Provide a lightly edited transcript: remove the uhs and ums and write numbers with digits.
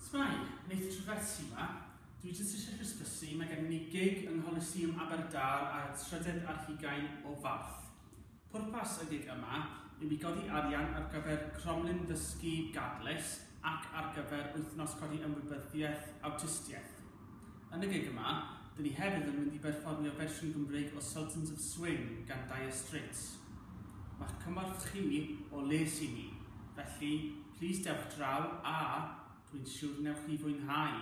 S'mai, Neith Trefetsi 'ma. Dwi jyst eisiau hysbysu, mae gennym ni gig yng Ngholiseum Aberdâr ar y trydedd ar hugain o Fawrth. Pwrpas y gig yma yw i godi arian ar gyfer Cromlin Ddysgu Gadlys ac ar gyfer Wythnos Codi Ymwybyddiaeth Awtistiaeth. Yn y gig yma, dyn ni hefyd yn mynd i berfformio fersiwn Gymreig o Sultans of Swing gan Dire Straits. Mae'ch cymorth chi o les i ni, felly plîs dewch draw a dwi'n siwr wnewch chi fwynhau.